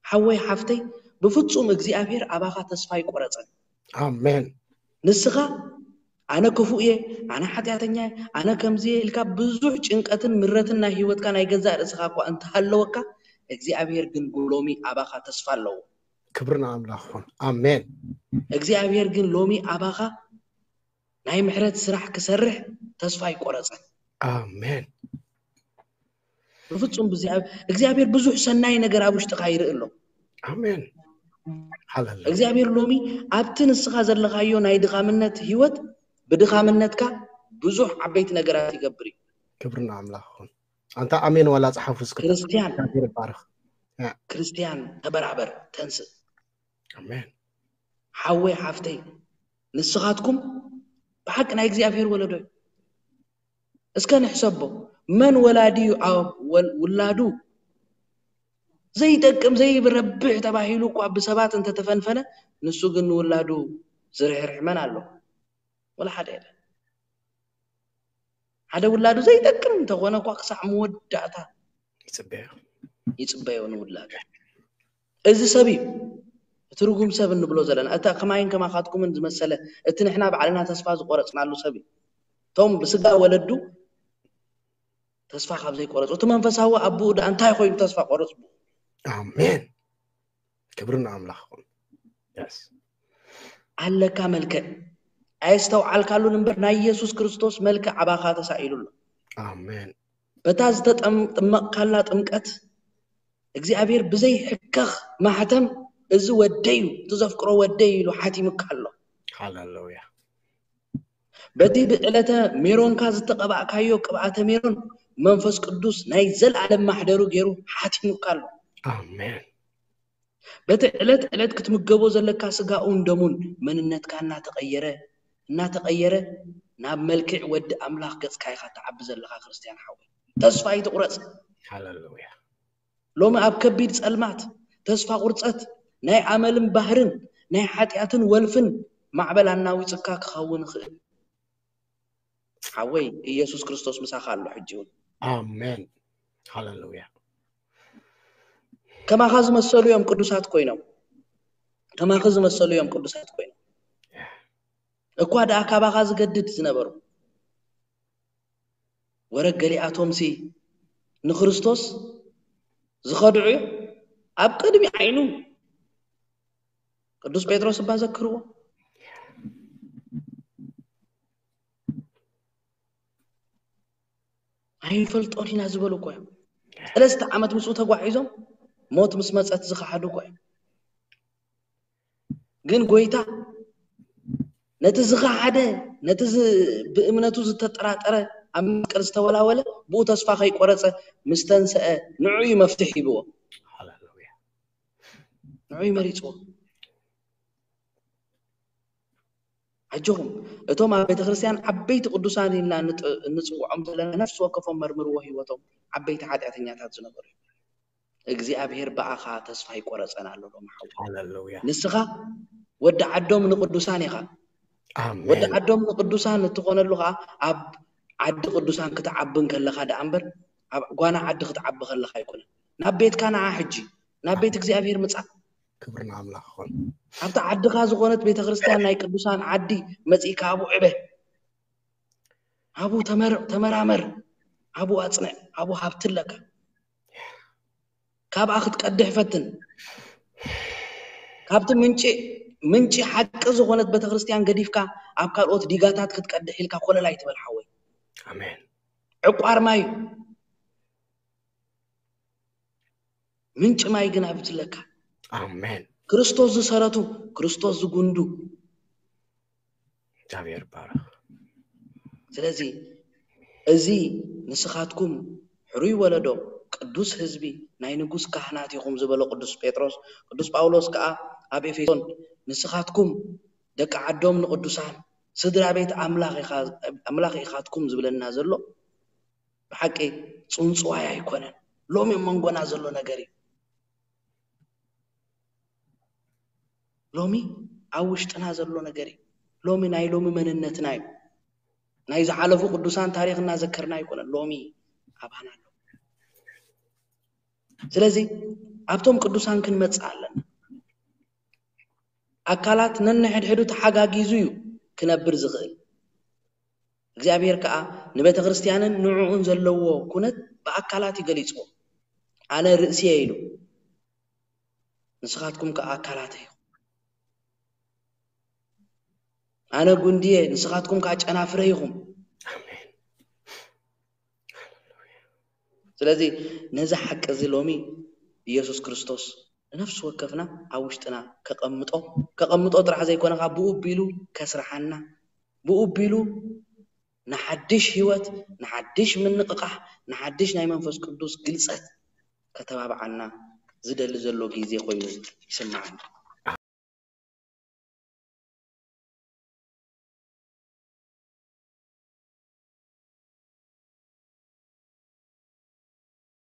ሓወይ ሓፍተይ፣ ብፍጹም እግዚኣብሔር ኣባኻ ተስፋ ኣይቆረጸን። ኣሜን። ንስኻ ኣነ ክፉእ እየ፣ ኣነ ሓጢኣተኛ እየ፣ ኣነ ከምዚ እየ ኢልካ ብዙሕ ጭንቀትን ምረትን ናይ ህይወትካ ናይ ገዛእ ርእስኻ እኳ እንተሃለወካ፣ እግዚኣብሔር ግን ሎሚ ኣባኻ ተስፋ ኣለዎ። ክብሪ ንኣምላኽ ይኹን። ኣሜን። እግዚኣብሔር ግን ሎሚ ኣባኻ ናይ ምሕረት ስራሕ ክሰርሕ ተስፋ ኣይቆረጸን። ኣሜን። ብፍጹም ብዚ እግዚኣብሔር ብዙሕ ሰናይ ነገር ኣብ ውሽጥኻ ይርኢ ኣሎ። ኣሜን። ሃሌሉያ። እግዚኣብሔር ሎሚ ኣብቲ ንስኻ ዘለኻዮ ናይ ድኻምነት ህይወት ብድኻምነትካ ብዙሕ ዓበይቲ ነገራት ይገብር እዩ። ክብሪ ንኣምላኽ ይኹን። ኣንታ ኣሜን ዋላ ጸሓፉ እስኪ። ክርስትያን እግዚኣብሔር ይባርኽ። ክርስትያን ተበራበር፣ ተንስእ። ኣሜን። ሓወይ ሓፍተይ፣ ንስኻትኩም ብሓቂ ናይ እግዚኣብሔር ወለዶ እዩ። እስከ ንሕሰቦ፣ መን ወላዲ እዩ ኣብ ወል- ውላዱ ዘይጠቅም ዘይረብሕ ተባሂሉ እኳ ብሰባት እንተተፈንፈነ፣ ንሱ ግን ንውላዱ ዝርሕርሕ መን ኣሎ? ወላ ሓደ የለን። ሓደ ውላዱ ዘይጠቅም እንተኾነ እኳ ክሳዕ መወዳእታ ይጽበዮ። ይጽበዮ ንውላዱ። እዚ ሰብ እዩ እቲ ርጉም ሰብ እንብሎ ዘለና። እታ ከማይን ከማኻትኩምን ዝመሰለ እቲ ንሕና ባዕልና ተስፋ ዝቆረጽናሉ ሰብ እዩ። እቶም ብስጋ ወለዱ ተስፋ ካብ ዘይቆረጹ እቲ መንፈሳዊ ኣቦኡ ደኣ እንታይ ኮይኑ ተስፋ ቆረጽ? ኣሜን። ክብሪ ንኣምላኽ ይኹን። የስ። ኣለካ መልክዕ ኣየስተውዓልካሉን እምበር ናይ ኢየሱስ ክርስቶስ መልክዕ ኣባኻ ተሳኢሉ ኣሎ። ኣሜን። በታ ዝተጠምጠመቕካላ ጥምቀት እግዚኣብሔር ብዘይ ሕከኽ ማሕተም እዚ ወደይ እዩ፣ እቲ ዘፍቅሮ ወደይ እዩ ኢሉ ሓቲሙካ ኣሎ። ሃሌሉያ። በቲ ብዕለተ ሜሮንካ ዝተቐባእካዮ ቅብኣተ ሜሮን መንፈስ ቅዱስ ናይ ዘለኣለም ማሕደሩ ገይሩ ሓቲሙካ ኣሎ። ኣሜን። በቲ ዕለት ዕለት ክትምገቦ ዘለካ ስጋኡን ደሙን መንነትካ እናተቐየረ እናተቐየረ ናብ መልክዕ ወዲ ኣምላኽ ገጽካ ኢኻ ትዓቢ ዘለኻ ክርስትያን ሓወይ። ተስፋ ኣይትቑረጽ። ሃሌሉያ። ሎሚ ኣብ ከቢድ ጸልማት፣ ተስፋ ቁርጸት፣ ናይ ኣመልን ባህርን ናይ ሓጢኣትን ወልፍን ማዕበል ኣናዊጽካ ክኸውን ይኽእል። ሓወይ ኢየሱስ ክርስቶስ ምሳኻ ኣሎ ሕጂ እውን። ኣሜን። ሃሌሉያ። ከማኻ ዝመሰሉ እዮም ቅዱሳት ኮይኖም። ከማኺ ዝመሰሉ እዮም ቅዱሳት ኮይኖም። እኳ ደኣ ካባኻ ዝገድድ ዝነበሩ ወረድ ገሊኣቶምሲ ንክርስቶስ ዝኸድዑ እዮም። ኣብ ቅድሚ ዓይኑ ቅዱስ ጴጥሮስ እባ ዘክርዎ። ኣይንፈልጦን ኢና ዝበሉ እኮ እዮም። ሰለስተ ዓመት ምስኡ ተጓዒዞም ሞት ምስ መጸት ዝኸሓዱ እኮ እዮም። ግን ጎይታ ነቲ ዝኸሓደ፣ ነቲ ዝ- ብእምነቱ ዝተጠራጠረ፣ ኣብ መስቀል ዝተወላወለ ብኡ ተስፋ ከይቆረጸ ምስ ተንስአ ንዑ እዩ መፍትሕ ሂብዎ። ሃሌሉያ። ንዑ እዩ መሪጽዎ። ኣጆኹም እቶም ኣብ ቤተ ክርስቲያን ዓበይቲ ቅዱሳን ኢልና ንጥ- እንጽውዖም ዘለና ነፍሲ ወከፎም መርምርዎ ህይወቶም ዓበይቲ ሓጢኣተኛታት ዝነበሩ እዮም። እግዚኣብሔር ብኣኻ ተስፋ ይቆረጸን ኣሎ ሎም ሓው ሃሌሉያ። ንስኻ ወዲ ዓዶም ንቅዱሳን ኢኻ። ወዲ ኣሜን። ዓዶም ንቅዱሳን እትኾነሉ ኸዓ ኣብ ዓዲ ቅዱሳን ክትዓቢ እንከለኻ ደኣ እምበር ኣብ ጓና ዓዲ ክትዓቢ ከለኻ ኣይኮነን። ናብ ቤትካ ንዓ ሕጂ ናብ ቤት እግዚኣብሔር ምጻእ። ክብሪ ንኣምላኽ ይኹን። ኣብቲ ዓድኻ ዝኾነት ቤተክርስትያን ናይ ቅዱሳን ዓዲ መጺእካ ኣብኡ ዕበ። ኣብኡ ተመር- ተመራመር። ኣብኡ ኣጽንዕ። ኣብኡ ሃብቲ ኣለካ። ካብኣ ክትቀድሕ ፈትን። ካብቲ ምንጪ ምንጪ ሓቂ ዝኾነት ቤተክርስትያን ገዲፍካ ኣብ ካልኦት ዲጋታት ክትቀድሕ ኢልካ ኮለል ኣይትበል ሓወይ። ኣሜን። ዕቋር ማይ እዩ። ምንጪ ማይ ግን ኣብቲ ኣለካ። ኣሜን። ክርስቶስ ዝሰረቱ፣ ክርስቶስ ዝጉንዱ። እግዚኣብሔር ይባረኽ። ስለዚ እዚ ንስኻትኩም ሕሩይ ወለዶ፣ ቅዱስ ህዝቢ፣ ናይ ንጉስ ካህናት ኢኹም ዝበሎ ቅዱስ ጴጥሮስ፣ ቅዱስ ጳውሎስ ከኣ ኣብ ኤፌሶን ንስኻትኩም ደቂ ዓዶም ንቅዱሳን ስድራ ቤት ኣምላኽ ኢኻ- ኣምላኽ ኢኻትኩም ዝብለና ዘሎ ብሓቂ ጽንጽዋይ ኣይኮነን። ሎሚ ኣብ መንጎና ዘሎ ነገር እዩ። ሎሚ ኣብ ውሽጥና ዘሎ ነገር እዩ። ሎሚ ናይ ሎሚ መንነትና እዩ። ናይ ዝሓለፉ ቅዱሳን ታሪኽ እናዘከርና ኣይኮነን። ሎሚ ኣባና ኣሎ። ስለዚ ኣብቶም ቅዱሳን ክንመጽእ ኣለና። ኣካላት ነንሕድሕዱ ተሓጋጊዙ እዩ ክነብር ዝኽእል። እግዚኣብሔር ከዓ ንቤተ ክርስቲያንን ንዕኡን ዘለዎ ኩነት ብኣካላት እዩ ገሊጽዎ። ኣነ ርእሲ እየ ኢሉ፣ ንስኻትኩም ከዓ ኣካላት ኢኹም። ኣነ ጉንዲ እየ፣ ንስኻትኩም ከዓ ጨናፍረ ኢኹም። ስለዚ ነዚ ሓቂ እዚ ሎሚ ኢየሱስ ክርስቶስ ንነፍሲ ወከፍና ኣብ ውሽጥና ከቐምጦ፣ ከቐምጦ ጥራሕ ዘይኮነ፣ ካብ ብኡ ኣቢሉ ከስርሓና፣ ብኡ ኣቢሉ ንሓድሽ ህይወት፣ ንሓድሽ ምንቕቓሕ፣ ንሓድሽ ናይ መንፈስ ቅዱስ ግልጸት ከተባብዓና ዝደሊ ዘሎ ግዜ ኮይኑ ይስምዓኒ።